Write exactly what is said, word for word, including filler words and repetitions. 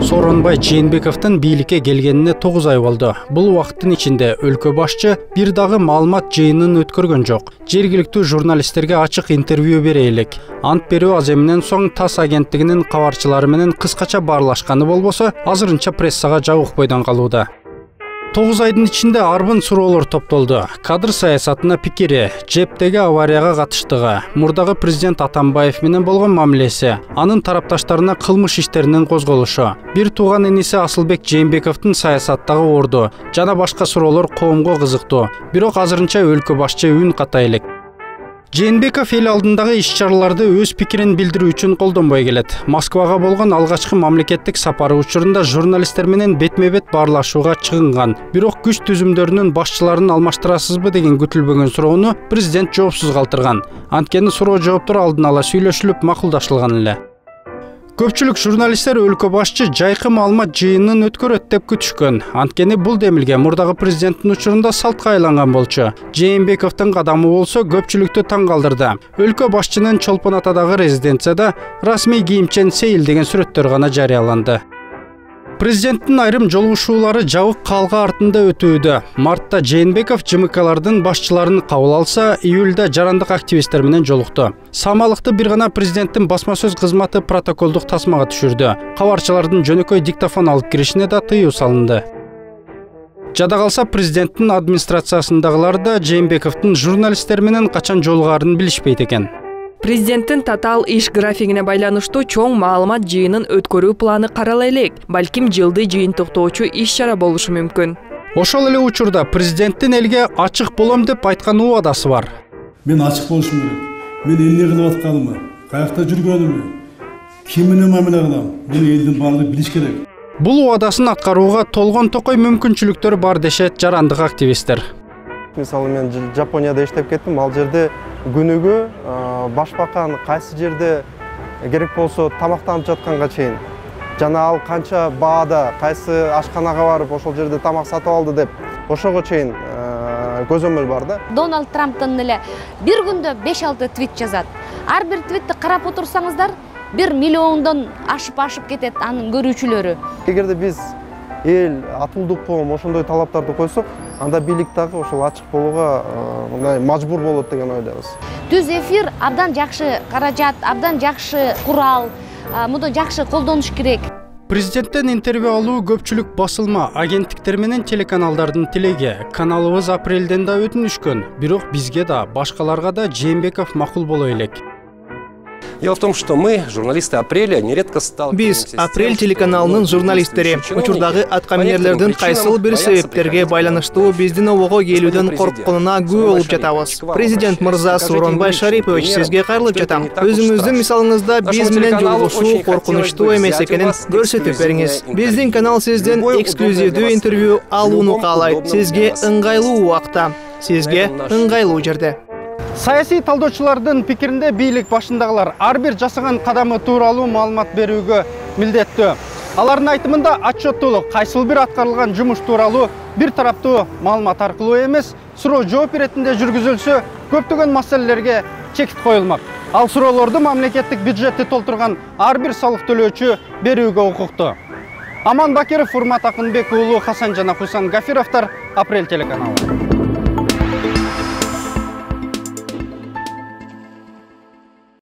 Сооронбай Жээнбековдун бийликке келгенине тогуз ай болду. Бул убакыттын ичинде өлкө башчы бир дагы маалымат жыйынын өткөргөн жок. Жергиликтүү журналисттерге ачык интервью бере элек. Ант берүү аз эмнен соң ТАСС агенттигинин кабарчылары менен кыскача баарлашканы болбосо, азырынча прессага жабык бойдон калууда. тогуз айдын ичинде арбын суроолор топтолду. Кадр саясатына пикири, жептеги аварияга катыштыгы, мурдагы президент Атамбаев менен болгон мамилеси, анын тарапташтарына кылмыш иштеринин козголушу, бир тууган иниси Асылбек Жээнбековдун саясаттагы орду жана башка суроолор коомго кызыктуу. Бирок азырынча өлкө башчы үн ката элек. Жээнбеков эл алдындагы иш-чараларды өз пикирин билдирүү үчүн колдонбой келет. Москвага болгон алгачкы мамлекеттик сапары учурунда журналисттер менен бетме-бет баарлашууга чыгынган. Бирок күч түзүмдөрүнүн башчыларын алмаштырасызбы деген күтүлбөгөн суроону президент жоопсуз калтырган. Анткени суроо жооптор алдын ала сүйлөшүлүп макулдашылган эле. Көпчүлүк журналисттер өлкө башчы жайкы маалымат жыйынын өткөрөт деп күтүшкөн. Анткени бул демилге мурдагы президенттин учурунда салтка айланган болчу. Жээнбековдун кадамы болсо көпчүлүктү таң калтырды. Өлкө башчынын Чолпон Атадагы резиденцияда расмий кийимчен сейил деген сүрөттөр гана жарыяланды. Президенттин айрым жолугушуулары жабык калга артында өтүүдө. Мартта Жээнбеков ЖМКлардын башчыларын кабыл алса, июлда жарандык активисттер менен жолукту. Самалыкты бир гана президенттин басма сөз кызматы протоколдук тасмага түшүрдү. Кабарчылардын жөнөкөй диктофон алып киришине да тыюу салынды. Жада калса, президенттин администрациясындагылар да Жээнбековдун журналисттер менен качан жолугаарын билишпейт экен. Президенттин татаал иш графигине байланыштуу чоң маалымат жыйынын өткөрүү планы карала элек. Балким жылды жыйынтыктоочу иш-чара болушу мүмкүн. Ошол эле учурда президенттин элге ачык болом деп айткан убадасы бар. Мен ачык болушум керек. Мен эмне кылып атканымды, каякта жүргөнүмдү, ким менен мамиле кылам, мени элдин баардыгы билиш керек. Бул убадасын аткарууга толгон токой мүмкүнчүлүктөр бар дешет жарандык активисттер. Мисалы мен Жапонияда иштеп кеттим, ал жерде күнүгө башбакан кайсы жерде керек болсо тамактанып жатканга чейин жана ал канча баада кайсы ашканага барып ошол жерде тамак сатып алды деп ошого чейин көзөмөл бар да. Дональд Трамптын эле бир күндө беш алты твит жазат. Ар бир твитти карап отурсаңыздар, бир миллиондон ашып-ашып кетет анын көрүүчүлөрү. Эгерде биз эл атылдык коом ошондой талаптарды койсок, анда бийлик дагы ошол ачык болууга мындай мажбур болот деген ойдобуз. Түз эфир абдан жакшы каражат, абдан жакшы курал, муну жакшы колдонуш керек. Президенттен интервью алуу көпчүлүк басылма, агенттиктер менен телеканалдардын тилеги. Каналыбыз апрелден да өтүнүшкөн, бирок бизге да, башкаларга да Жээнбеков макул боло элек. Дело в том, что мы, журналисты «Апреля», нередко сталкиваемся Биз «Апрель» телеканалынын журналисттери учурдагы аткаминерлердин кайсыл бир себептерге байланыштуу биздин обого келүүдөн коркконуна күбө болуп жатабыз. Президент мырза Сооронбай Шарипович, сизге кайрылып жатам. Өзүңүздүн мисалыңызда биз менен жолугушуу коркунучтуу эмес экенин көрсөтүп бериңиз. Биздин канал сизден эксклюзивдүү интервью алууну каалайт. Сизге ыңгайлуу убакта, сизге ыңгайлуу жерде. Саясий талдоочулардын пикиринде бийлик башындагылар ар бир жасаган кадамы тууралуу маалымат берүүгө милдеттүү. Алардын айтымында отчеттуулук кайсыл бир аткарылган жумуш тууралуу бир тараптуу маалымат аркылуу эмес, суроо жооп иретинде жүргүзүлсө, көптөгөн маселелерге чекит коюлмак. Ал суроолорду мамлекеттик бюджетти толтурган ар бир салык төлөөчү берүүгө укуктуу. Аман Бакиров, Урмат Акынбек уулу, Хасан жана Хусан Гафировдор, Апрель телеканалы.